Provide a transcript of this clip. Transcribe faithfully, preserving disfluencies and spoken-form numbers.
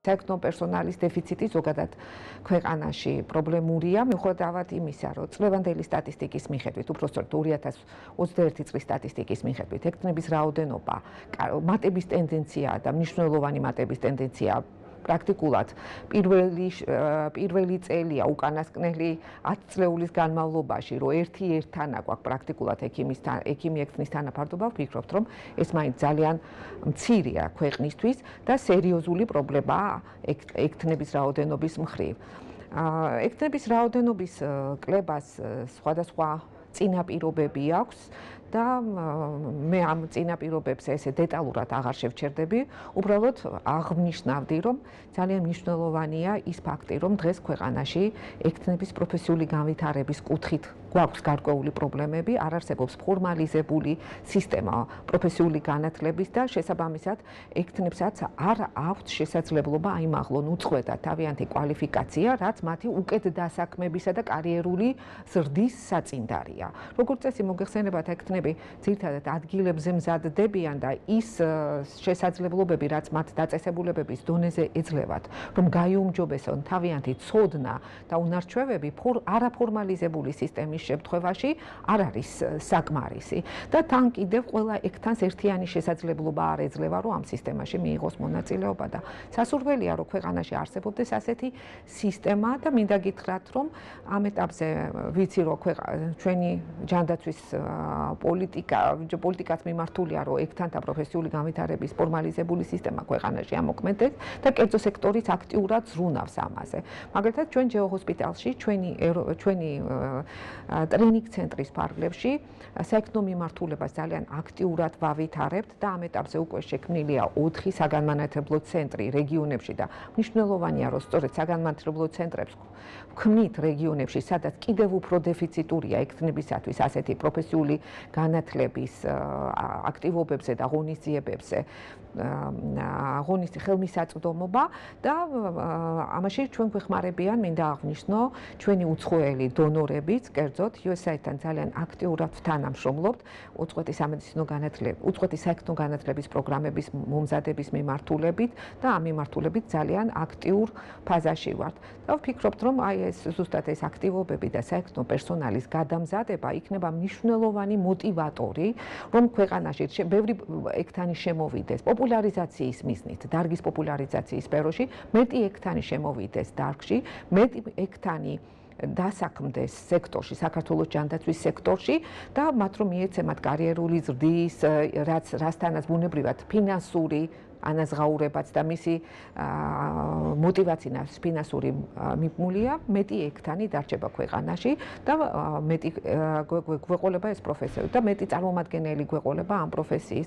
საერთო პერსონალის დეფიციტი ზოგადად ქვეყანაში პრობლემურია, მიუხედავად იმისა, რომ წლევანდელი სტატისტიკის მიხედვით, უпростоრ ორი ათას ოცდაერთი წლის სტატისტიკის მიხედვით, ექთნების რაოდენობა, მატების ტენდენცია და მნიშვნელოვანი მატების ტენდენცია პრაქტიკულად პირველი პირველი წელია უკანასკნელი ათი წლეულის განმავლობაში, რომ ერთი ერთთან აკვაკ პრაქტიკულად ექიმის ექიმი ექთნის თანაფარდობა, ვფიქრობთ, რომ ეს მაინც ძალიან მცირეა ქვეყნისთვის და სერიოზული პრობლემაა ექთნების რაოდენობის მხრივ. ექთნების რაოდენობის კლებას სხვადასხვა წინაპირობები აქვს და მე ამ წინაპირობებს ესე დეტალურად აღარ შევჩერდები, უბრალოდ აღნიშნავდი, რომ ძალიან მნიშვნელოვანია ის ფაქტი, რომ დღეს ქვეყანაში ექთნების პროფესიული განვითარების კუთხით გვაქვს გარკვეული პრობლემები, არ არსებობს ფორმალიზებული სისტემა პროფესიული განათლების და შესაბამისად ექთნებსაც არ აქვთ შესაძლებლობა აიმაღლონ უწყვეტად თავიანთი კვალიფიკაცია, რაც მათი უკეთ დასაქმებისა და კარიერული ზრდის საწინდარია. როგორც წესი მოგეხსენებათ, ექთნები ძირითადად ადგილებზე მზადდებიან და ის შესაძლებლობები, რაც მათ დაწესებულებების დონეზე ეძლევათ, რომ გაიუმჯობესონ თავიანთი ცოდნა და უნარჩვევები არაფორმალიზებული სისტემის შემთხვევაში არ არის საკმარისი და თან კიდევ ყველა ექთანს ერთიანი შესაძლებლობა არ ეძლევა, რომ ამ სისტემაში მიიღოს მონაწილეობა და სასურველია, რომ ქვეყანაში არსებობდეს ასეთი სისტემა და მინდა გითხრათ, რომ ამ ეტაპზე ვიცი, რომ ჩვენი ჯანდაცვის პოლიტიკა, პოლიტიკაც მიმართულია, რომ ექთანთა პროფესიული განვითარების ფორმალიზებული სისტემა ქვეყანაში ამოქმედდეს და კერძო სექტორიც აქტიურად ზრუნავს ამაზე. მაგალითად, ჩვენ ჯეო ჰოსპიტალში, ჩვენი ჩვენი ტრენინგ ცენტრის ფარგლებში საექნო მიმართულებას ძალიან აქტიურად ვავითარებთ და ამ ეტაპზე უკვე შექმნილია ოთხი საგანმანათლებლო ცენტრი რეგიონებში და მნიშვნელოვანია, რომ სწორედ საგანმანათლებლო ცენტრებს ვქმნით რეგიონებში, სადაც კიდევ უფრო დეფიციტურია ექთნებისათვის ასეთი პროფესიული განათლების აქტივობებზე და ღონისძიებებზე ღონისძიების ხელმისაწვდომობა და ამაში ჩვენ გვეხმარებიან, მინდა აღვნიშნო, ჩვენი უცხოელი დონორებიც, კერძოდ იუ ეს έი-თან ძალიან აქტიურად ვთანამშრომლობთ უწყვეტი სამედიცინო განათლების, უწყვეტი საექთნო განათლების პროგრამების მომზადების მიმართულებით და ამ მიმართულებით ძალიან აქტიურ ფაზაში ვართ. და ვფიქრობთ, რომ აი ეს ზუსტად ეს აქტივობები და საექთნო პერსონალის გადამზადება იქნება მნიშვნელოვანი მოტივატორი, რომ ქვეყანაში ბევრი ექთანი შემოვიდეს პოპულარიზაციის მიზნით, დარგის პოპულარიზაციის სფეროში, მეტი ექთანი შემოვიდეს დარგში, მეტი ექთანი დასაქმდეს სექტორში, საქართველოს ჯანდაცვის სექტორში და მათ რომ მიეცემათ კარიერული ზრდის, რაც რასთანაც ბუნებრივად ფინანსური ანაზღაურებაც და მისი მოტივაცია ფინანსური მიბმულია, მეტი ექთანი დარჩება ქვეყანაში და მეტი გვეყოლება ეს პროფესია და მეტი წარმომადგენელი გვეყოლება ამ პროფესიის.